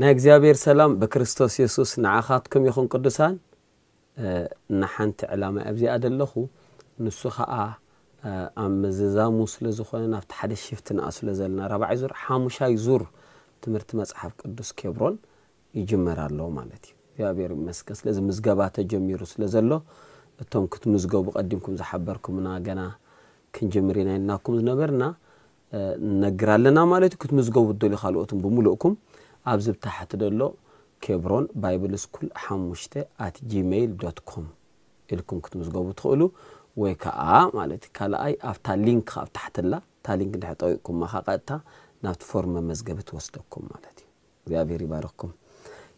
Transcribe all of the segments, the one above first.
ናይ እግዚኣብሔር ሰላም ብክርስቶስ የሱስ ንዓኻትኩም ይኹን ቅዱሳን። ንሓንቲ ዕላማ ኣብዚኣ ደለኹ፣ ንሱ ኸዓ ኣብ ምዝዛሙ ስለ ዝኾነ ናብቲ ሓደ ሽፍት ንኣ ስለ ዘለና ራብዓይ ዙር ሓሙሻይ ዙር ትምህርቲ መጽሓፍ ቅዱስ ኬብሮን ይጅመር ኣሎ ማለት እዩ። እግዚኣብሔር ይመስገን። ስለዚ ምዝገባ ተጀሚሩ ስለ ዘሎ እቶም ክትምዝገቡ ቀዲምኩም ዝሓበርኩምና ገና ክንጅምር ኢና ኢልናኩም ዝነበርና ነግር ኣለና ማለት እዩ። ክትምዝገቡ ትደልዩ ካልኦትን ብምሉእኩም ኣብዚ ብታሕቲ ደሎ ኬብሮን ባይብል ስኩል ሓሙሽተ ኣት ጂሜይል ዶት ኮም ኢልኩም ክትምዝገቡ ትኽእሉ፣ ወይ ከዓ ማለት እዩ ካልኣይ ኣብታ ሊንክ ኣብ ታሕትላ እታ ሊንክ እንድሕር ጠቂቕኩማ ከዓ ቀጥታ ናብቲ ፎርም መመዝገቢ ትወስደኩም ማለት እዩ። እግዚኣብሔር ይባርክኩም።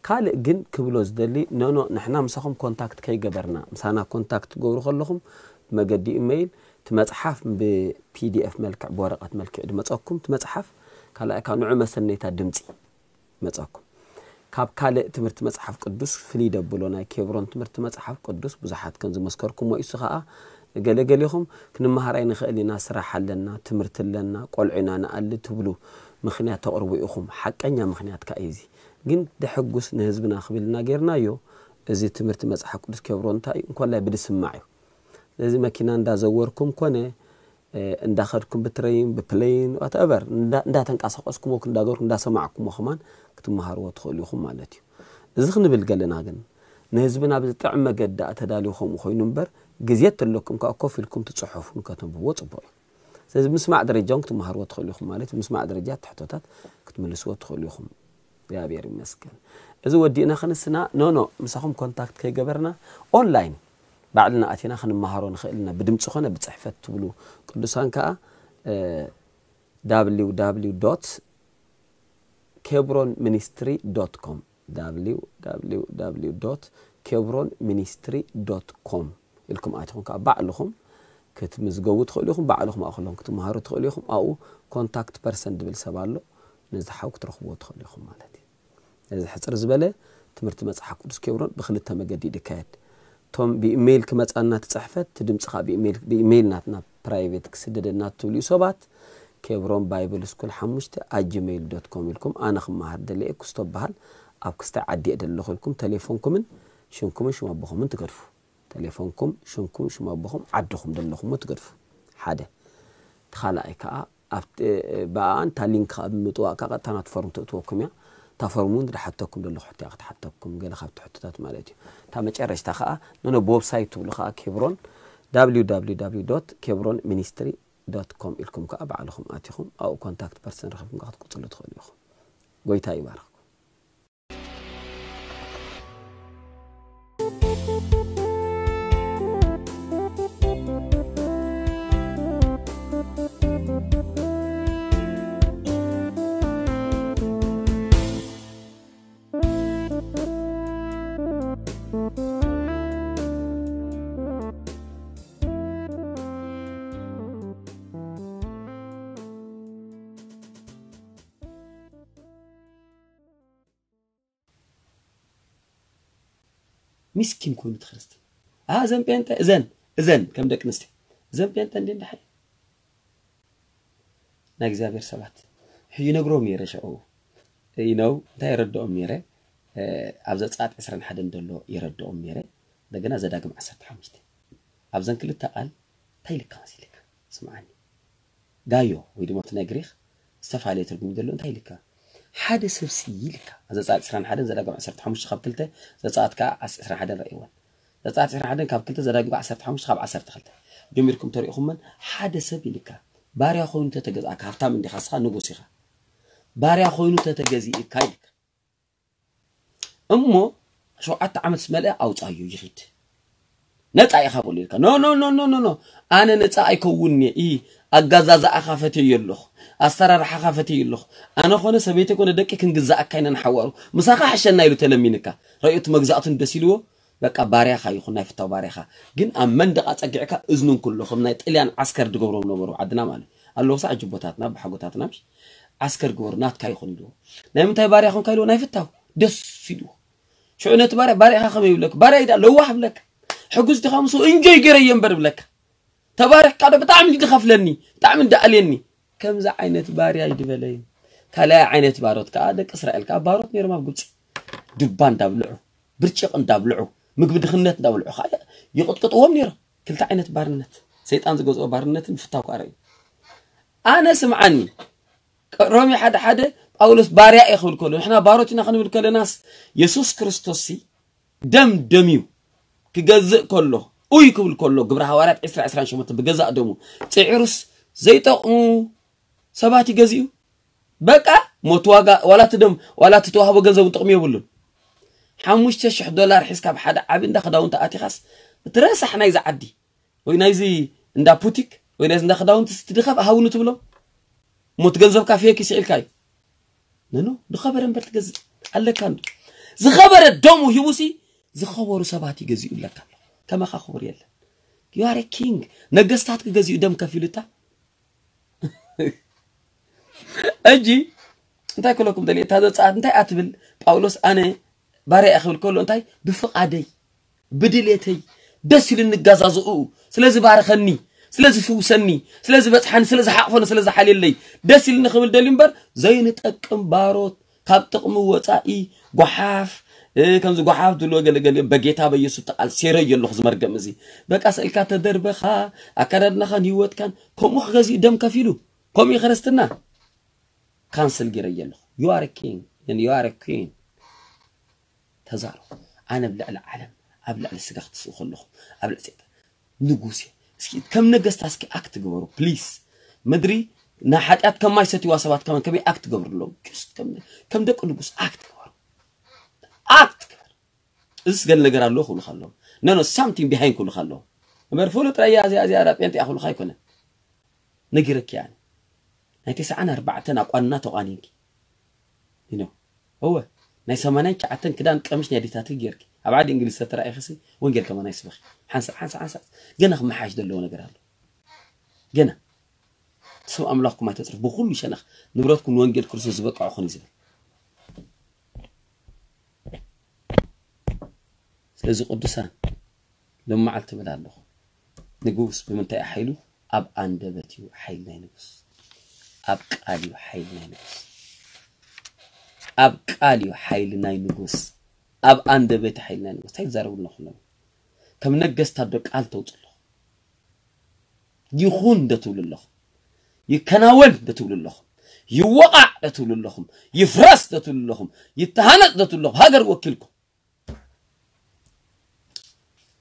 ካልእ ግን ክብሎ ዝደሊ፣ ኖኖ ንሕና ምሳኹም ኮንታክት ከይገበርና፣ ምሳና ኮንታክት ትገብሩ ከለኹም ብመገዲ ኢሜይል እቲ መጽሓፍ ብፒዲኤፍ መልክዕ ብወረቐት መልክዕ ድመጸኩም እቲ መጽሓፍ። ካልኣይ ካብ ንዑ መሰነይታ ድምፂ መጸኩም። ካብ ካልእ ትምህርቲ መጽሓፍ ቅዱስ ፍልይ ደብሎ ናይ ኬብሮን ትምህርቲ መጽሓፍ ቅዱስ ብዙሓት ከም ዝመስከርኩሞ ኢሱ ኸዓ ገለገሊኹም ክንመሃር ኣይንኽእል ኢና፣ ስራሕ ኣለና፣ ትምህርቲ ኣለና፣ ቆልዑ ኢና ንኣሊ ትብሉ ምኽንያት ተቕርቡ ኢኹም። ሓቀኛ ምኽንያት ከኣ እዩ እዚ። ግን ደሐጉስ ንህዝብና ክብልና ጌርናዮ። እዚ ትምህርቲ መጽሓፍ ቅዱስ ኬብሮን እንታይ እዩ? እንኮላይ ብድስማዕ እዩ። ስለዚ መኪና እንዳዘወርኩም ኮነ እንዳኸድኩም ብትረይን ብፕለይን ዋትኤቨር እንዳተንቀሳቀስኩሞ እንዳገርኩም እንዳሰማዕኩሞ ከማን ክትመሃርዎ ትኽእሉ ኢኹም ማለት እዩ። እዚ ክንብል ገለና ግን ንህዝብና ብዝጥዕም መገዲ ኣተዳልዩ ከምኡ ኮይኑ እምበር ግዜ ተለኩም ከዓ ኮፍ ኢልኩም ትፅሑፉን ከተንብብዎ ፅቡቅ እዩ። ስለዚ ምስማዕ ደረጃ እውን ክትመሃርዎ ትኽእሉ ኢኹም ማለት ምስማዕ ደረጃ ትሕቶታት ክትምልስዎ ትኽእሉ ኢኹም። እግዚኣብሔር ይመስገን። እዚ ወዲእና ክንስና ኖኖ ምሳኹም ኮንታክት ከይገበርና ኦንላይን ባዕልና ኣቲና ክንመሃሮ ንኽእል ኢና። ብድምፂ ኾነ ብፅሕፈት ትብሉ ቅዱሳን ከዓ www kebronministry.com www kebronministry.com ኢልኩም ኣቲኹም ከዓ ባዕልኹም ክትምዝገቡ ትኽእሉ ኢኹም። ባዕልኹም ኣእክሎም ክትመሃሩ ትኽእሉ ኢኹም። ኣብኡ ኮንታክት ፐርሰን ዝብል ሰብ ኣሎ። ነዚ ሓው ክትረኽብዎ ትኽእሉ ኢኹም ማለት እዩ። እዚ ሕፅር ዝበለ ትምህርቲ መፅሓፍ ቅዱስ ኬብሮን ብክልተ መገዲ እዩ ዝካየድ። እቶም ብኢሜይል ክመፃና ትፅሕፈት እቲ ድምፂ ከዓ ብኢሜይል ናትና ፕራይቬት ክስደደና ትብልዩ ሰባት ኬብሮን ባይብል ስኩል ሓሙሽተ ኣት ጂሜይል ዶት ኮም ኢልኩም ኣነ ክመሃር ደለየ ክስቶ በሃል ኣብ ክስታይ ዓዲ እየ ደለኹ ኢልኩም ተሌፎንኩምን ሽምኩምን ሽም ኣቦኹምን ትገድፉ። ተሌፎንኩም ሽምኩም ሽም ኣቦኹም ዓድኹም ደለኹሞ ትገድፉ። ሓደ እቲ ካልኣይ ከዓ ኣብቲ ብኣኣን እታ ሊንክ ከዓ ብምጥዋቅ ከዓ ቀጥታ ናቲ ፎርም ትእትወኩም እያ። እታ ፎርም እውን ዝሓተኩም ደለኹ ሕቶ እያ ክትሓተኩም ገለ ካብቲ ሕቶታት ማለት እዩ። እታ መጨረሽታ ከዓ ነነ ብወብሳይት ትብሉ ከዓ ኬብሮን www kebronministry.com ኢልኩም ከዓ ባዕልኹም ኣቲኹም ኣብኡ ኮንታክት ፐርሰን ረኺብኩም ከዓ ክትቅፅሉ ትኽእሉ ኢኹም። ጎይታ ይባርኽኩም። ምስኪን ኮይኑ እቲ ክርስትና። ኣ፣ እዘን ጴንጠ፣ እዘን፣ እዘን ከም ደቂ ኣንስትዮ። እዘን ጴንጠ እንዴ እንዳሓይ። ናይ እግዚኣብሔር ሰባት። ይነግሮም ነይረ ሽዑ። You know፣ እንታይ የረድኦም ነይረ? እ፣ ኣብ ዘጸኣት ዕስራን ሓደን ዘሎ የረድኦም ነይረ። እንደገና ዘዳግም ዓሰርተ ሓሙሽተ። ኣብዘን ክልተ ቃል እንታይ ኢልካ መሲልካ? ስምዓኒ። ጋዮ ወይ ድማ እቲ ናይ ግሪኽ ዝተፈላለየ ትርጉም ዘሎ እንታይ ኢልካ? ሓደ ሰብሲ ኢልካ። ኣብ ዘጸኣት ዕስራን ሓደን ዘዳግም ዓሰርተ ሓሙሽተ ካብ ክልተ፣ ዘጸኣት ከኣ ዓስ-፣ ዕስራን ሓደን ረእይወን። ዘጸኣት ዕስራን ሓደን ካብ ክልተ፣ ዘዳግም ከኣ ዓሰርተ ሓሙሽተ ካብ ዓሰርተ ክልተ። ጀሚርኩም ተሪእኹመን ሓደ ሰብ ኢልካ። ባርያ ኮይኑ ተተገዝኣካ፣ ሃብታም እንዲኻ፣ ንስኻ ንጉስ ኢኻ። ባርያ ኮይኑ ተተገዚእካ ኢልካ። እሞ ሸውዓተ ዓመት ዝመልአ ኣውጻዮ ይኺድ። ነጻ ኢኻ በሉ ኢልካ። ኖ፣ ኖ፣ ኖ፣ ኖ፣ ኖ፣ ኖ። ኣነ ነጻ ኣይከውን'የ። ኢ፣ ኣጋዛዝኣኻ ፈትየዮ ኣለኹ። ኣሰራርሓኻ ፈትየዮ ኣለኹ። ኣነ ኾነ ሰበይተይ ኮነ ደቂ ክንግዛኣካ ኢና ንሓዋሩ። ምሳኻ ሕሸና ኢሉ ተለሚንካ። ረእዩ እቲ መግዛእቱ ደስ ኢልዎ፣ በቃ ባርያኻ ይኹን ናይ ፍታው ባርያኻ። ግን ኣብ መንደቕ ኣጸጊዕካ እዝኑ እንክሎ፣ ከም ናይ ጥልያን ዓስከር ዝገብሮም ነበሩ ዓድና ማለት። ኣለዉ ሳዕ ጅቦታትና፣ ብሓጎታትና ምሽ ዓስከር ግበሩ፣ ናትካ ይኹን ኢልዎ። ናይ ምንታይ ባርያ ኾንካ ኢልዎ፣ ናይ ፍታው። ደስ ኢልዎ። ሽዑ ነቲ ባርያ፣ ባርያ ኢኻ ከመይ ይብለካ? ባርያ ኢዳ ለዋህ ይብለካ። ሕጉስ ዲኻ ምስኡ እንጆይ ገይረዮ እምበር ይብለካ። ተባሪኽካ ዶ ብጣዕሚ እንዲ ዝኸፍለኒ፣ ብጣዕሚ እንዲ ኣልየኒ። ከምዚ ዓይነት ባርያ ይድበለይ። ካልኣይ ዓይነት ባሮት ከዓ ደቂ እስራኤል ከዓ ባሮት ነይሮም ኣብ ግብፂ። ድባ እንዳብልዑ፣ ብርጭቕ እንዳብልዑ፣ ምግቢ ድኽነት እንዳብልዑ ከዓ ይቕጥቅጥዎም ነይሮም። ክልተ ዓይነት ባርነት። ሰይጣን ዝገዝኦ ባርነትን ፍታው ከዓ ርእዩ። ኣነ ስምዓኒ፣ ሮሜ ሓደ ሓደ ጳውሎስ ባርያ እየ ክብል ከሎ፣ ንሕና ባሮት ኢና ክንብል ከለናስ፣ የሱስ ክርስቶስ ሲ ደም ደምዩ ክገዝእ ከሎ፣ ኡይ ክብል ከሎ፣ ግብረ ሃዋርያት ዕስራ ዕስራን ሸሞንተን ብገዛእ ደሙ ጽዒሩስ ዘይጠቕሙ ሰባት ይገዝኡ። በቃ ሞት ዋጋ፣ ዋላ እቲ ደም፣ ዋላ እቲ ተዋህቦ ገንዘብ እውን ጥቕሚ የብሉን። ሓሙሽተ ሽሕ ዶላር ሒዝካ ኣብ ሓደ ዓቢ እንዳ ክዳውንቲ ኣቲኻስ፣ እቲ ረሳሕ ናይዚ ዓዲ ወይ ናይዚ እንዳ ፑቲክ ወይ ናይዚ እንዳ ክዳውንቲ ስትድኸፍ ሃውኒ ትብሎ። ሞት ገንዘብካ ፌክ ይስዒልካ እዩ። ነኖ ዝኸበረ እምበር ትገዝእ ኣለካ እንዶ። ዝኸበረ ደሙ ሂቡሲ ዝኸበሩ ሰባት ይገዝኡ ኣለካ ኣሎ። ከማኻ ክቡር የለን። You are a king። ነገስታት ክገዝኡ ደም ከፊሉታ። እጂ እንታይ ክለኩም ደሊ፣ እታ ዘጻት እንታይ ኣትብል? ጳውሎስ ኣነ ባርያ እየ ክብል ከሎ እንታይ? ብፍቓደይ፣ ብድሌተይ፣ ደስ ኢሉ እንጋዛዝኡ፣ ስለ ዝባረኸኒ፣ ስለ ዝፍውሰኒ፣ ስለ ዝበጽሓኒ፣ ስለ ዝሓቕፈኒ፣ ስለ ዝሓልየለይ፣ ደስ ኢሉ ንኽብል ደልዩ እምበር፣ ዘይንጠቅም ባሮት፣ ካብ ጥቕሚ ወጻኢ፣ ጓሓፍ፣ እ፣ ከምዚ ጓሓፍ ዝብልዎ ገለ ገሊኦም፣ በጌታ በኢየሱስ ተቓልሴረዮ ኣለኹ ዝመርገም እዚ። በቃ ስእልካ ተደርበኻ፣ ኣከዳድናኻን ህይወትካን፣ ከምኡ ክገዝኡ ደም ከፊሉ። ከምኡ እዩ ክርስትና። ካንስል ገይረዮ ኣለኹ። You are a king and you are a queen። ተዛረቡ። ኣነ ኣብ ልዕሊ ዓለም፣ ኣብ ልዕሊ ስጋ ክትስኡ ከለኹም፣ ኣብ ልዕሊ ሰይጣን ንጉስ እየ። እስኪ ከም ነገስታት እስኪ ኣክት ግበሩ ፕሊስ። ምድሪ ንሓጢኣት ከማይ ሰትይዋ ሰባት ከመን ከመይ ኣክት ገብርሎም። ጅስት ከም ከም ደቂ ንጉስ ኣክት ግበሩ። ኣክት ግበር። እዚስ ገለ ነገር ኣለዎ ክብሉኻ ኣለዎም። No no something behind ክብሉኻ ኣለዎም። እምበር ፍሉጥ ረያ እዚኣ እዚኣ ዳ ጴንጤ እያ ክብሉኻ ኣይኮነን። ነጊረኪ እያ ኣነ። ናይ ተስዓን ኣርባዕተን ኣቋንና ተቋኒንኪ። You know። እወ ናይ ሰማንያን ትሽዓተን ክዳን ቀምሽ ናይ ኣዴታትኪ ጌርኪ ኣብ ዓዲ እንግሊዝ ተተራኢኽሲ ወንጌል ከማን ኣይስበኺ። ሓንሳእ ሓንሳእ ሓንሳእ ገና ክመሓሽ ዘለዎ ነገር ኣሎ። ገና ስም ኣምላኽኩም ኣይተጽርፉ። ብኹሉ ሸነኽ ንብረትኩም ንወንጌል ክርስቶስ ዝበቅዖ ኹን እዩ ዝብል። ስለዚ ቅዱሳን ሎም መዓልቲ እብል ኣለኹ። ንጉስ ብምንታይ እዩ ሓይሉ? ኣብ ኣንደበት እዩ ሓይሊ ናይ ንጉስ። ኣብ ቃል እዩ ሓይሊ ናይ ንጉስ። ኣብ ቃል እዩ ሓይሊ ናይ ንጉስ። ኣብ ኣንደበት እዩ ሓይሊ ናይ ንጉስ። እንታይ ትዛረቡ ኣለኹም? ከም ነገስታት ዶ ቃል ተውጽኡ ኣለኹም? ይኹን ዶ ትብሉ ኣለኹም? ይከናወን ዶ ትብሉ ኣለኹም? ይወቓዕ ዶ ትብሉ ኣለኹም? ይፍረስ ዶ ትብሉ ኣለኹም? ይተሃነጽ ዶ ትብሉ ኣለኹም? ሃገር ወኪልኩም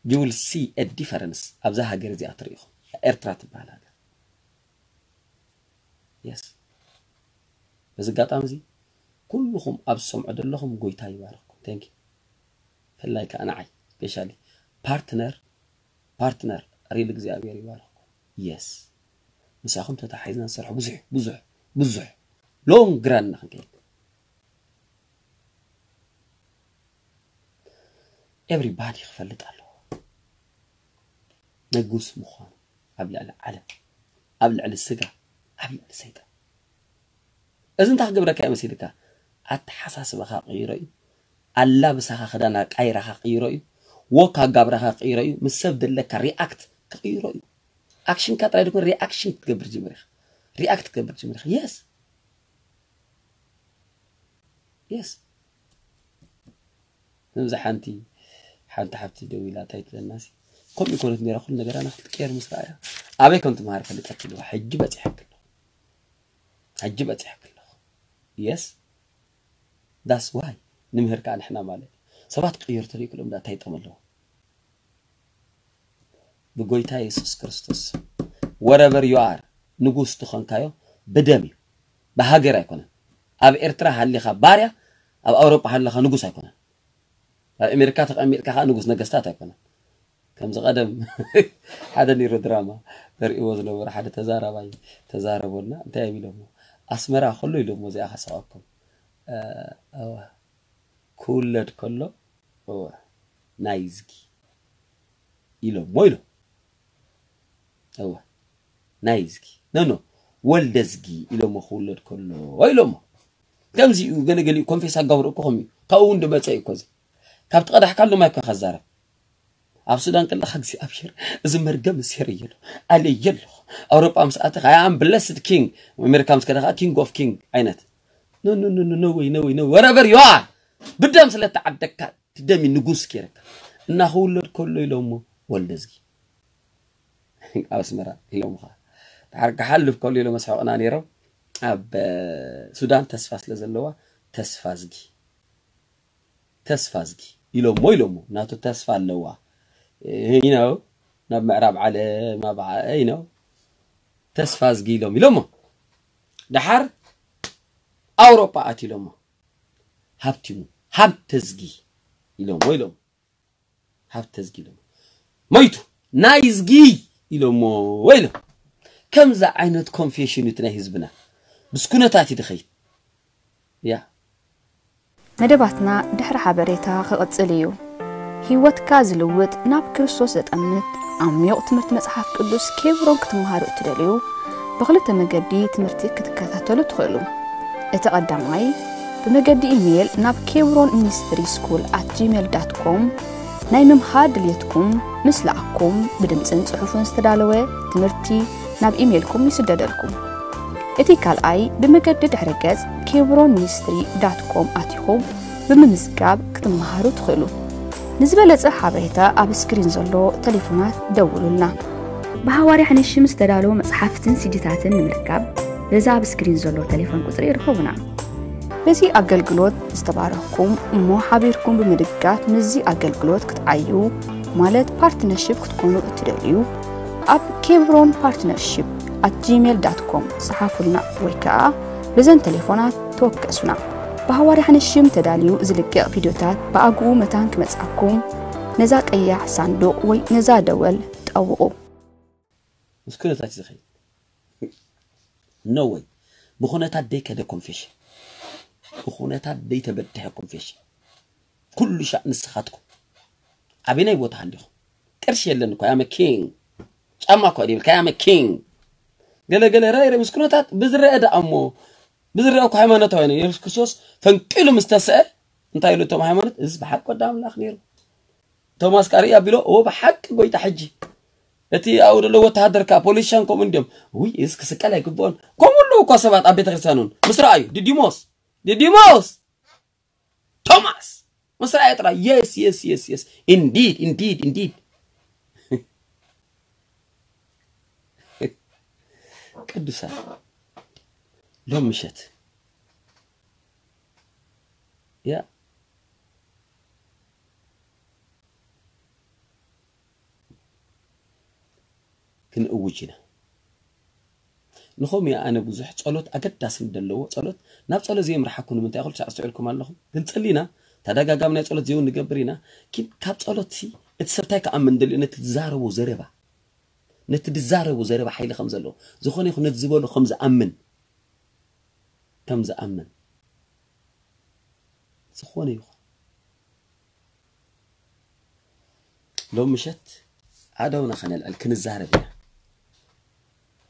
you will see a difference ኣብዛ ሃገር እዚኣ ትርኢ ኢኹም። ኤርትራ ትበሃል ሃገር። የስ። በዚ ኣጋጣሚ እዚ ኩልኹም ኣብ ዝሰምዑ ዘለኹም ጎይታ ይባርኽኩም። Thank you። ብፍላይ ከዓ ንዓይ ስፔሻሊ ፓርትነር ፓርትነር ሪል እግዚኣብሔር ይባርኽኩም። የስ። ምሳኹም ተታሒዝና ንሰርሖ ብዙሕ ብዙሕ ብዙሕ ሎንግ ራን ኢና ክንከይድ። ኤቭሪባዲ ክፈልጥ ኣለዎ ንጉስ ምዃኑ ኣብ ልዕሊ ዓለም፣ ኣብ ልዕሊ ስጋ፣ ኣብ ልዕሊ ሰይጣን። እዚ እንታይ ክገብረካ እዩ መሲልካ? ኣተሓሳስባኻ ክቕይሮ እዩ። ኣላብሳኻ ክዳን ኣቃይራኻ ክቕይሮ እዩ። ወክ ኣጋብራኻ ክቕይሮ እዩ። ምስ ሰብ ዘለካ ሪኣክት ክቕይሮ እዩ። ኣክሽንካ ጥራይ ደኮን ሪኣክሽን ክትገብር ጀምር ኢኻ። ሪኣክት ክትገብር ጀምር ኢኻ። የስ የስ። ከምዚ ሓንቲ ሓንቲ ሓብቲ ደው ኢላ እንታይ ትብለና ሲ ከምኡ ይኮነት ነይራ ኩሉ ነገራ ንክትቀየር ምስ ረኣያ ኣበይ ከም ትምሃር ፈልጠት ኣለዋ ሕጂ በፂሐክሎ ሕጂ በፂሐክሎ የስ that's why ንምህር ከዓ ንሕና ማለት እዩ ሰባት ክቅየሩ ተሪእክሎም ዳ እንታይ ጠም ኣለዎ ብጎይታ የሱስ ክርስቶስ wherever you are ንጉስ ትኾንካዮ ብደም እዩ ብሃገር ኣይኮነን ኣብ ኤርትራ ሃሊኻ ባርያ ኣብ ኣውሮጳ ሃለኻ ንጉስ ኣይኮነን ኣብ ኣሜሪካ ተቐሚጥካ ከዓ ንጉስ ነገስታት ኣይኮነን ከምዚ ቀደም ሓደ ኒሮ ድራማ ዘርእዎ ዝነበሩ ሓደ ተዛራባይ ተዛረቦና እንታይ እዮም ኢሎሞ ኣስመራ ከሎ ኢሎሞ እዚኣ ከስቀኩም ክውለድ ከሎ ናይዝጊ ኢሎሞ ኢሎም እወ ናይዝጊ ነኖ ወልደዝጊ ኢሎሞ ክውለድ ከሎ ኢሎሞ ከምዚኡ ገለገሊኡ ኮንፌስ ኣጋብሮ እኮ ከምኡ ካብኡ እውን ድመፀ እዩ እኮ እዚ ካብቲ ቀዳሕካ ሎማ እኮ ከዛረብ ኣብ ሱዳን ከለካ እግዚኣብሔር እዚ መርገም እሴር እየሎ ኣለየ ኣለኹ ኣውሮጳ ምስ ኣተኻ ኣም ብለስድ ኪንግ ኣሜሪካ ምስ ከደኻ ኪንግ ኦፍ ኪንግ ዓይነት No, no, no, no, no way, no way, no, wherever you are. ብደም ስለ ተዓደግካ፣ እቲ ደም እዩ ንጉስ ገይረካ። እና ክውለድ ከሎ ኢሎሞ ወልደዝጊ። ኣብ ኣስመራ ኢሎምኻ። ድሓር ክሓልፍ ከሎ ኢሎም መስሕቕና ነይሮም። ኣብ፣ እ፣ ሱዳን ተስፋ ስለ ዘለዋ፣ ተስፋ ዝጊ። ተስፋ ዝጊ ኢሎሞ፣ ኢሎሞ። ናቱ ተስፋ ኣለዋ። እ፣ you know፣ ናብ ምዕራብ ዓለም፣ ኣብ ዓ-፣ you know፣ ተስፋ ዝጊ ኢሎም፣ ኢሎሞ። ድሓር ኣውሮጳ ኣት ኢሎሞ። ሃብቲሙ፣ ሃብተዝጊ ኢሎሞ፣ ኢሎም። ሃብተዝጊ ኢሎሞ። መይቱ፣ ናይዝጊ ኢሎሞ፣ ኢሎም። ከምዚ ዓይነት ኮንፌሽን እዩ እቲ ናይ ህዝብና። ምስ ኩነታት እዩ ድኸይድ። ያ። መደባትና ድሕሪ ሓበሬታ ክቕጽል እዩ። ህይወትካ ዝልውጥ፣ ናብ ክርስቶስ ዘጠምት ዓሚቕ ትምህርቲ መጽሓፍ ቅዱስ ኬብሮን ክትመሃሩ እትደልዩ፣ ብኽልተ መገዲ ትምህርቲ ክትከታተሉ ትኽእሉ። እቲ ቀዳማይ፣ ብመገዲ ኢሜይል ናብ ኬብሮን ሚኒስትሪ ስኩል ኣት ጂሜል ዳት ኮም ናይ ምምሃር ድልየትኩም ምስ ለኣኩም፣ ብድምጽን ጽሑፍን ዝተዳለወ ትምህርቲ ናብ ኢሜይልኩም ይስደደልኩም። እቲ ካልኣይ፣ ብመገዲ ድሕረ ገጽ ኬብሮን ሚኒስትሪ ዳት ኮም ኣቲኹም ብምምዝጋብ ክትመሃሩ ትኽእሉ። ንዝበለጸ ሓበሬታ ኣብ ስክሪን ዘሎ ቴሌፎናት ደውሉልና። ብሃዋርያ ሓንሽም ዝተዳለዉ መጽሓፍትን ሲዲታትን ንምርካብ በዛ ኣብ ስክሪን ዘሎ ቴሌፎን ቁጽሪ ይርኸቡና። በዚ ኣገልግሎት ዝተባረኽኩም እሞ ሓቢርኩም ብምድጋፍ ምስዚ ኣገልግሎት ክትዓዩ ማለት ፓርትነርሺፕ ክትኮኑ እትደልዩ ኣብ ኬብሮን ፓርትነርሺፕ ኣት ጂሜል ዳት ኮም ጸሓፉልና ወይ ከኣ በዘን ቴሌፎናት ተወከሱና። ብሃዋርያ ሓንሽም ተዳልዩ ዝልቀቕ ቪድዮታት ብኣግኡ መታን ክመጽኣኩም ነዛ ቀያሕ ሳንዱቕ ወይ ነዛ ደወል ጠውቑ። ምስ ኩነታት እዩ ዝኸይድ። No way። ብኹነታት ደይከደ ኮንፌሽን። ብኹነታት ደይተበድሐ ኮንፌሽን። ኩሉ ሻዕ ንስኻትኩም። ኣበየናይ ቦታ ሃሊኹም? ቅርሺ የለን እኮ፣ I am a king። ጫማ እኮ ድብል፣ I am a king። ገለ ገለ ራይ ምስ ኩነታት ብዝረአ ደኣ እሞ፣ ብዝረአ እኮ ሃይማኖታዊ ነው። የሱስ ክርስቶስ ፈንቂሉ ምስ ተስአ፣ እንታይ ኢሉ እቶም ሃይማኖት? እዚ ብሓቂ ወዲ ኣምላኽ ነይሩ። ቶማስ ካርኢ ኣቢሎ፣ "እዎ ብሓቂ ጎይታ ሕጂ." እቲ ኣብኡ ዘሎ ወተሃደር ከኣ ፖሊሻን ከምኡ እንዲዮም። "ውይ፣ እዚ ክስቀል ኣይግብኦን." ከምኡ ኣለዉ እኳ ሰባት ኣብ ቤተ ክርስቲያን እውን። ምስ ረኣዩ፣ "ዲዲሞስ፣ ዲዲሞስ፣ ቶማስ!" ምስ ረኣየ ጥራይ፣ "Yes, yes, yes, yes. Indeed, indeed, indeed." ቅዱሳን፣ ሎም ምሸት፣ ያ፣ ክንእውጅ ኢና። ንኸምኡ እየ ኣነ ብዙሕ ጸሎት ኣገዳሲ ዘለዎ ጸሎት፣ ናብ ጸሎት ዘይምርሓኩ ንምንታይ? ኩሉ ሳዕ ኣስተውዒልኩም ኣለኹም። ክንጽሊ ኢና፣ ተደጋጋሚ ናይ ጸሎት ዘይውን ንገብር ኢና። ግን ካብ ጸሎትሲ እቲ ሰብ እንታይ ክኣምን ደልዩ? ነቲ ዝዛረቦ ዘረባ፣ ነቲ ዝዛረቦ ዘረባ ሓይሊ ከም ዘለዎ፣ ዝኾነ ይኹን ነቲ ዝበሎ ከም ዝኣምን፣ ከም ዝኣምን፣ ዝኾነ ይኹን ሎም ምሸት ኣእዳውና ከነልዕል ክንዛረብ ኢና።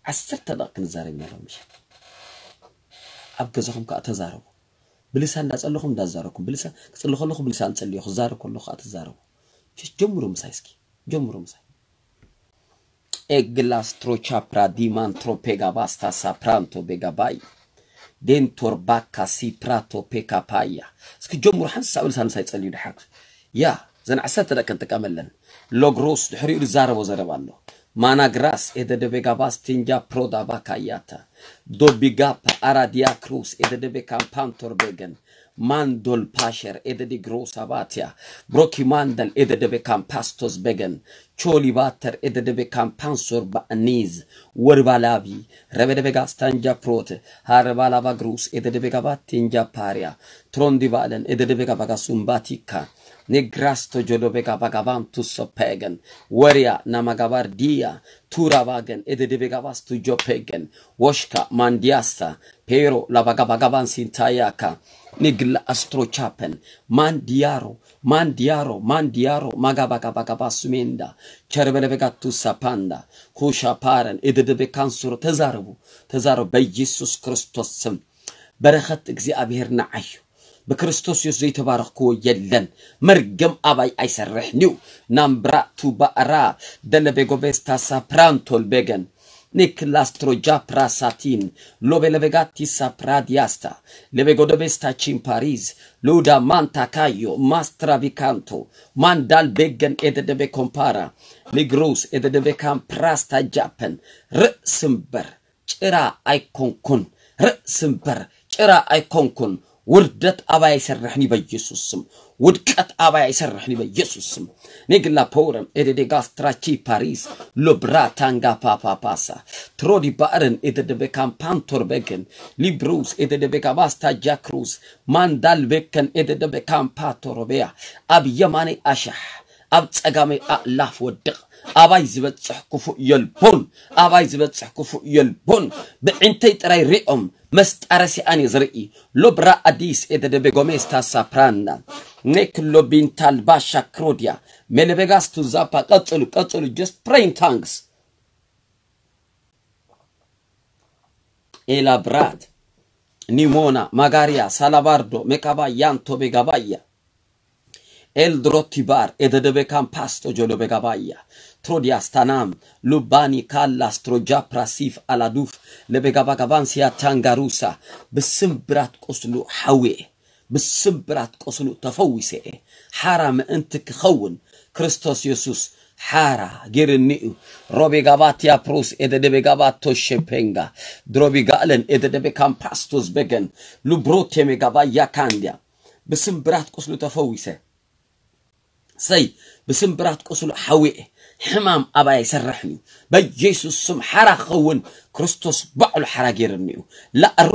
ዓሰርተ ደቂቕ ክንዛረብ ኢና ሎም ምሸት። ኣብ ገዛኹም ከኣ ተዛረቡ። ብልሳን እንዳጸለኹም እንዳዛረብኩም፣ ብልሳን ክጽሊ ከለኹ ብልሳን ጸልዮ፣ ክዛረብ ከለኹ ከኣ ተዛረቡ። ጀምሩ ምሳይ እስኪ፣ ጀምሩ ምሳይ። ኤግላስትሮቻፕራ ዲማንትሮ ፔጋባስታ ሳፕራንቶ ቤጋባይ ዴንቶር ባካ ሲፕራቶ ፔካፓያ። እስኪ ጀምሩ ሓንሳብ ልሳን ሳይ ጸልዩ ድሓር። ያ፣ ዘን ዓሰርተ ደቂ ንጥቀመለን። ሎግሮስ ድሕሪኡ ዝዛረቦ ዘረባ ኣሎ። ማናግራስ ኤደደ ቤጋባስ ቲንጃ ፕሮዳ ባካያታ። ዶቢጋፓ ኣራዲያ ክሩስ ኤደደ ቤካምፓንቶር ቤገን። ማንዶል ፓሸር ኤደዲ ግሮሳ ባትያ። ብሮኪ ማንደል ኤደደ ቤካምፓስቶስ ቤገን። ቾሊ ባተር ኤደደ ቤካምፓንሶር ባእኒዝ። ወርባላቢ ረበደ ቤጋስ ታንጃ ፕሮት። ሃረባላባ ግሩስ ኤደደ ቤጋባ ቲንጃ ፓርያ። ትሮንዲ ባለን ኤደደ ቤጋባጋ ሱምባቲካ። ኔግራስቶ ጆዶ ቤጋባጋባን ቱሶ ፔገን። ወርያ ናማጋባር ዲያ። ቱራ ባገን ኤደደ ቤጋባስ ቱጆ ፔገን። ወሽካ ማንዲያስታ። ፔሮ ላባጋባጋባን ሲንታያካ። ኒግላ ኣስትሮ ቻፐን። ማንዲያሮ፣ ማንዲያሮ፣ ማንዲያሮ፣ ማጋባጋባጋባ ሱሜንዳ። ቸርበለበጋቱ ሳፓንዳ። ኩሻ ፓረን ኤደደ ቤካንሱሮ። ተዛረቡ፣ ተዛረቡ በኢየሱስ ክርስቶስ ስም። በረኸት እግዚኣብሔር ንዓዩ። ብክርስቶስ የሱስ ዘይተባረኽክዎ የለን። መርገም ኣባይ ኣይሰርሕን እዩ። ናምብራ ቱባራ ደለቤጎቤስታ ሳፕራንቶል ቤገን። Niclastro già prasatin, love levegatti sapradiasta, levegodovesta cimpariz, luda manta caio, mastra vicanto, mandal beggen ed deve compara, ligrus ed deve camprasta giappen, ርእsimber, ጭራ ኣይኮንኩን፣ ርእሲ እምበር ጭራ ኣይኮንኩን። ውርደት ኣባይ ኣይሰርሕን እዩ በኢየሱስ ስም። ውድቀት ኣባይ ኣይሰርሕን እዩ በኢየሱስ ስም። ኔግላ ፖረም ኤደዴ ጋስትራቺ ፓሪስ ሎብራታንጋ ፓፓፓሳ ትሮዲ ባእርን ኤደደበ ካምፓንቶር በግን ሊብሩስ ኤደደበ ጋባስታ ጃክሩስ ማንዳል በከን ኤደደበ ካምፓቶሮበያ ኣብ የማነይ ኣሻሕ ኣብ ጸጋመይ ኣእላፍ ወድቕ። ኣባይ ዝበጽሕ ክፉእ የልቦን፣ ኣባይ ዝበጽሕ ክፉእ የልቦን። ብዒንተይ ጥራይ ሪኦም መስጣረሲኣን እየ ዝርኢ። ሎብራ ኣዲስ ኤደደቤ ጎሜስታ ሳፕራና ኔክሎ ቢንታል ባሻ ክሮዲያ ሜለቤጋስቱ ዛፓ። ቀጽሉ፣ ቀጽሉ። Just pray in tongues. ኤላ ብራት ኒሞና ማጋሪያ ሳላባርዶ ሜካባ ያንቶ ቤጋባያ ኤልድሮ ቲባር ኤደደቤ ካምፓስቶ ጆሎ ቤጋባያ ትሮዲያስ ታናም ሉባኒ ካላስ ትሮጃ ፕራሲፍ ኣላዱፍ ለቤጋባ ጋባንሲያ ታንጋሩሳ ብስምብራት ቁስሉ ሓዌ ብስምብራት ቁስሉ ተፈዊሰ እየ። ሓራ ምእንቲ ክኸውን ክርስቶስ የሱስ ሓራ ጌርኒ እዩ። ሮቤ ጋባትያ ፕሩስ ኤደደቤ ጋባቶ ሸፔንጋ ድሮቢ ጋእለን ኤደደቤ ካምፓስቶስ በገን ሉብሮቴ ሜጋባያ ካንድያ ብስምብራት ቁስሉ ተፈዊሰ። ሰይ ብስምብራት ቁስሉ ሓዊኤ ሕማም ኣባይ ኣይሰርሕን እዩ። በኢየሱስ ስም ሓራ ክኸውን ክርስቶስ ባዕሉ ሓራ ጌርኒ እዩ። ላእሩ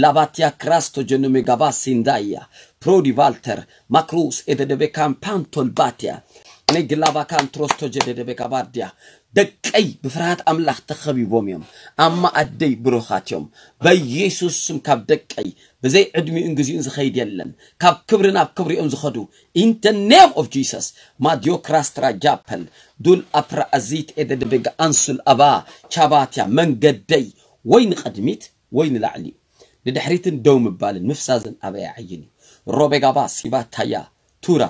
ላባትያ ክራስቶ ጀኖሜ ጋባ ሲንዳያ ፕሮዲ ቫልተር ማክሩስ ኤደደቤ ካምፓንቶል ባትያ ነግላባ ካንትሮስቶ ጀደደቤ ጋባርድያ ደቀይ ብፍርሃት ኣምላኽ ተኸቢቦም እዮም። ኣማ ኣደይ ብሩኻት እዮም። በኢየሱስ ስም ካብ ደቀይ ብዘይ ዕድሚኡን ግዚኡን ዝኸይድ የለን። ካብ ክብሪ ናብ ክብሪ እዮም ዝኸዱ። In the name of Jesus ማዲዮ ክራስትራ ጃፐል ዱል ኣፕራ ኣዚት ኤደደቤጋ ኣንሱል ኣባ ቻባትያ መንገደይ ወይ ንቐድሚት ወይ ንላዕሊ እዩ። ንድሕሪትን ደው ምባልን ምፍዛዝን ኣበይ ዓይን እዩ። ሮቤጋባ ሲባታያ ቱራ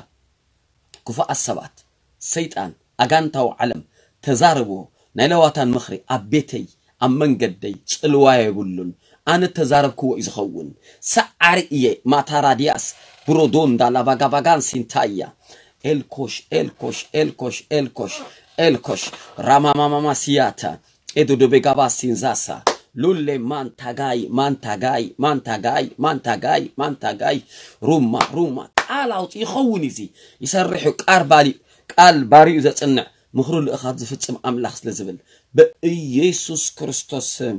ክፉኣት ሰባት ሰይጣን ኣጋንታዊ ዓለም ተዛረብዎ። ናይ ለዋታን ምኽሪ ኣብ ቤተይ ኣብ መንገደይ ጽልዋ የብሉን። ኣነ ተዛረብክዎ እዩ ዝኸውን። ሰዓሪ እየ ማታራድያስ ብሮዶንዳ ላባጋባጋን ሲንታያ ኤልኮሽ ኤልኮሽ ኤልኮሽ ኤልኮሽ ኤልኮሽ ራማማማማ ሲያታ ኤዶዶቤጋባ ሲንዛሳ ሉሌ ማንታጋይ ማንታጋይ ማንታጋይ ማንታጋይ ማንታጋይ ሩማ ሩማ ቃል ኣውፅ ይኸውን እዚ ይሰርሕ እዩ። ቃል ባሊ ቃል ባሪኡ ዘጽንዕ ምኽሩ ልእኻት ዝፍጽም ኣምላኽ ስለ ዝብል ብኢየሱስ ክርስቶስ ስም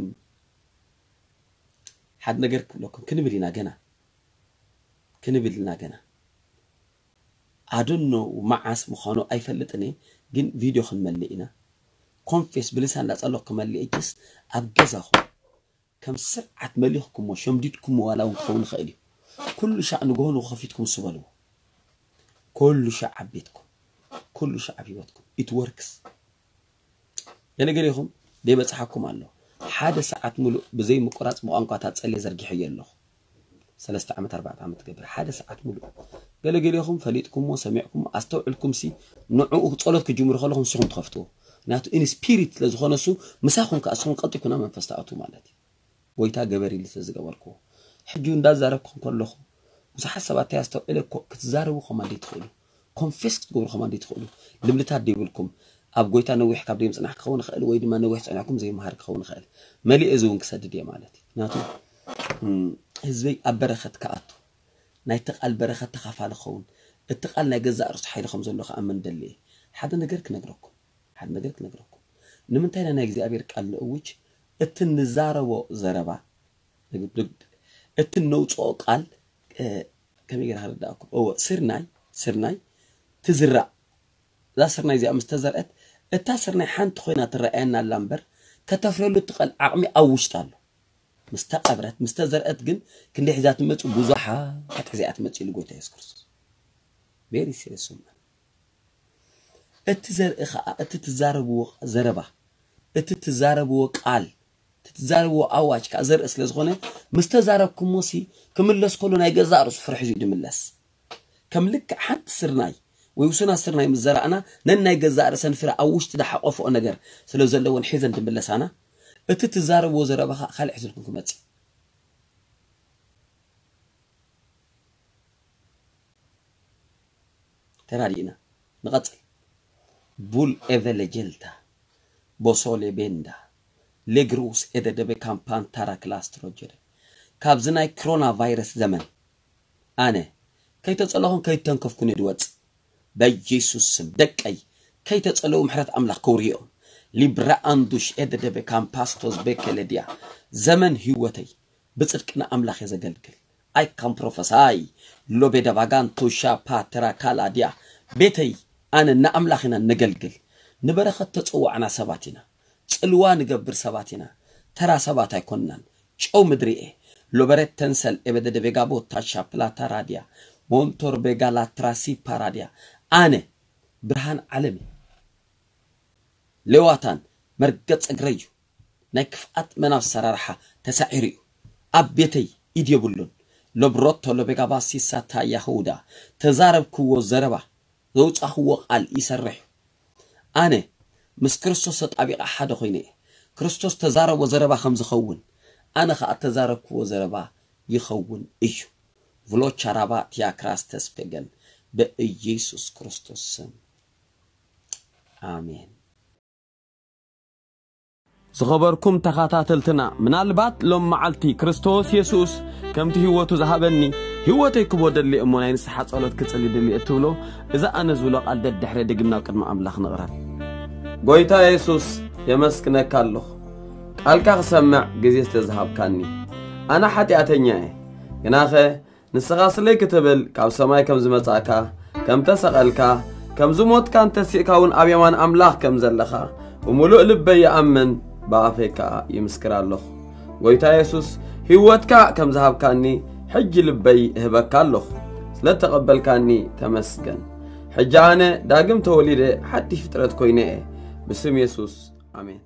ሓደ ነገር ክብለኩም ክንብል ኢና ገና ክንብል ኢና ገና ኣደኖ መዓስ ምዃኑ ኣይፈልጥን እየ፣ ግን ቪድዮ ክንመልእ ኢና። ኮንፌስ ብልሳን እንዳጸለኹ ክመልእ እጅስ ኣብ ገዛኹም ከም ስርዓት መሊኽኩሞ ሸምዲድኩሞ ዋላ እውን ክኸውን ይኽእል እዩ። ኩሉ ሻዕ ንግሆ ንግሆ ከፊትኩም ስበልዎ። ኩሉ ሻዕ ኣብ ቤትኩም፣ ኩሉ ሻዕ ኣብ ህይወትኩም። It works። ገለገሌኹም ደይበጽሓኩም ኣሎ። ሓደ ሰዓት ሙሉእ ብዘይ ምቁራጽ ብቋንቋታት ጸልየ ዘርጊሐዮ ኣለኹ። ሰለስተ ዓመት ኣርባዕተ ዓመት ትገብር ሓደ ሰዓት ሙሉእ ገለገሌኹም ፈሊጥኩሞ ሰሚዕኩሞ ኣስተውዕልኩም ሲ ንዕኡ ጸሎት ክጅምሩ ከለኹም ንስኹም ትኸፍትዎ ምክንያቱ in spirit ስለ ዝኾነ እሱ ምሳኹም ከኣ እስኹም ቀልጢፍኩና መንፈስ ትኣትዉ ማለት እዩ። ጎይታ ገበር ኢሉ ስለ ዝገበርክዎ ሕጂ እንዳዛረብኩ ከለኹ ብዙሓት ሰባት እንታይ ኣስተውዕለ ክትዛረቡ ከማን ትኽእሉ ኮንፌስ ክትገብሩ ከማን ትኽእሉ ልብልታት ደይብልኩም ኣብ ጎይታ ነዊሕ ካብ ደይ ምጽናሕ ክኸውን ይኽእል ወይ ድማ ነዊሕ ጸኒሕኩም ዘይምሃር ክኸውን ይኽእል መሊእ እዚ እውን ክሰድድ እየ ማለት እዩ ምክንያቱ ህዝበይ ኣብ በረኸት ክኣቱ ናይቲ ቃል በረኸት ተኻፋሊ ክኸውን እቲ ቃል ናይ ገዛእ ርእሱ ሓይሊ ከም ዘሎ ክኣምን ደሊ እየ ሓደ ነገር ክነግረኩም ሓደ ነገር ክነግረኩም ንምንታይ ናይ እግዚኣብሔር ቃል ንእውጅ እቲ ንዛረቦ ዘረባ እቲ ነውፅኦ ቃል ከመይ ገይረ ክርዳእኩም እወ ስርናይ ስርናይ ትዝራእ እዛ ስርናይ እዚኣ ምስ ተዘርአት እታ ስርናይ ሓንቲ ኮይና ትረኣየና ኣላ እምበር ከተፍረሉ እትኽእል ዓቕሚ ኣብ ውሽጢ ኣሎ ምስ ተቐብረት ምስ ተዘርአት ግን ክንደይ ሒዛ ትመፅእ ብዙሓት ሒዛ እያ ትመፅእ ኢሉ ጎይታ የሱስ ክርስቶስ very serious እቲ ዘርኢ ከዓ እቲ ትዛረብዎ ዘረባ እቲ ትዛረብዎ ቃል እቲ ትዛረብዎ ኣዋጅ ከዓ ዘርኢ ስለ ዝኾነ ምስ ተዛረብኩሞ ሲ ክምለስ ከሎ ናይ ገዛእ ርእሱ ፍረ ሒዙ እዩ ዝምለስ ከም ልክዕ ሓንቲ ስርናይ ወይ ውሱናት ስርናይ ምስ ዘራእና ነናይ ገዛእ ርእሰን ፍረ ኣብ ውሽጢ ዝሓቆፍኦ ነገር ስለ ዘለወን ሒዘን ዝምለሳና እቲ ትዛረብዎ ዘረባ ከዓ ካልእ ሕዝልኩም ክመጽእ። ተራዲእና ንቐጽል። ቡል ኤቨ ሌጀልታ ቦሶ ሌቤንዳ ሌግሩስ ኤደደበ ካምፓንታራ ክላስትሮጀደ። ካብዚ ናይ ክሮና ቫይረስ ዘመን ኣነ ከይተጸለኹን ከይተንከፍኩን እየ ድወጽእ። በኢየሱስ ስም ደቀይ ከይተጸለዉ ምሕረት ኣምላኽ ከውርዮም። ሊብራ ኣንዱሽ ኤደደበ ካምፓስቶስ ቤከለድያ። ዘመን ህይወተይ ብጽድቂ ንኣምላኽ እየ ዘገልግል። ኣይ ካም ፕሮፈሳይ ሎቤ ደባጋን ቶሻ ፓተራ ካላድያ። ቤተይ ኣነ ንኣምላኽ ኢና ነገልግል። ንበረኸት ተጸዋዕና ሰባት ኢና። ጽልዋ ንገብር ሰባት ኢና። ተራ ሰባት ኣይኮንናን። ጨው ምድሪ እየ። ሎበረት ተንሰል ኤበደደ ቤጋ ቦታ ሻፕላታ ራድያ ሞንቶር ቤጋ ላትራሲ ፓራድያ። ኣነ ብርሃን ዓለም እየ። ሌዋታን መርገጽ እግረይ እዩ። ናይ ክፍኣት መናፍስ ኣሰራርሓ ተሳዒሩ እዩ። ኣብ ቤተይ ኢድ የብሉን። ሎብሮቶ ሎቤጋ ባሲሳ ታያ ኸውዳ ተዛረብክዎ ዘረባ ዘውጻኽዎ ቃል ይሰርሕ እዩ። ኣነ ምስ ክርስቶስ ተጣቢቐ ሓደ ኮይነ እየ። ክርስቶስ ተዛረቦ ዘረባ ከም ዝኸውን ኣነ ኸኣ ተዛረብክዎ ዘረባ ይኸውን እዩ። ቭሎቻራባ ቲያክራስ ተስፔገን በኢየሱስ ክርስቶስ ስም ኣሜን። ዝኸበርኩም ተኸታተልትና፣ ምናልባት ሎም መዓልቲ ክርስቶስ የሱስ ከምቲ ህይወቱ ዝሃበኒ ህይወተይ ክቦ ደሊ እሞ ናይ ንስሓ ጸሎት ክጽሊ ደሊ እትብሎ፣ እዚ ኣነ ዝብሎ ቃል ደድሕረ ድግም ናብ ቅድሚ ኣምላኽ ንቕረብ። ጎይታ የሱስ፣ የመስግነካ ኣለኹ፣ ቃልካ ክሰምዕ ግዜ ስለ ዝሃብካኒ። ኣነ ሓጢኣተኛ እየ፣ ግናኸ ንስኻ ስለይ ክትብል ካብ ሰማይ ከም ዝመጻእካ፣ ከም ተሰቐልካ፣ ከም ዝሞትካን ተሲእካ እውን ኣብ የማን ኣምላኽ ከም ዘለኻ ብምሉእ ልበይ ይኣምን፣ ብኣፈይ ከኣ ይምስክር ኣለኹ። ጎይታ የሱስ፣ ህይወትካ ከም ዝሃብካኒ ሕጂ ልበይ እህበካ ኣለኹ። ስለ እተቐበልካኒ ተመስገን። ሕጂ ኣነ ዳግም ተወሊደ ሓድሽ ፍጥረት ኮይነ እየ። ብስም የሱስ፣ ኣሜን።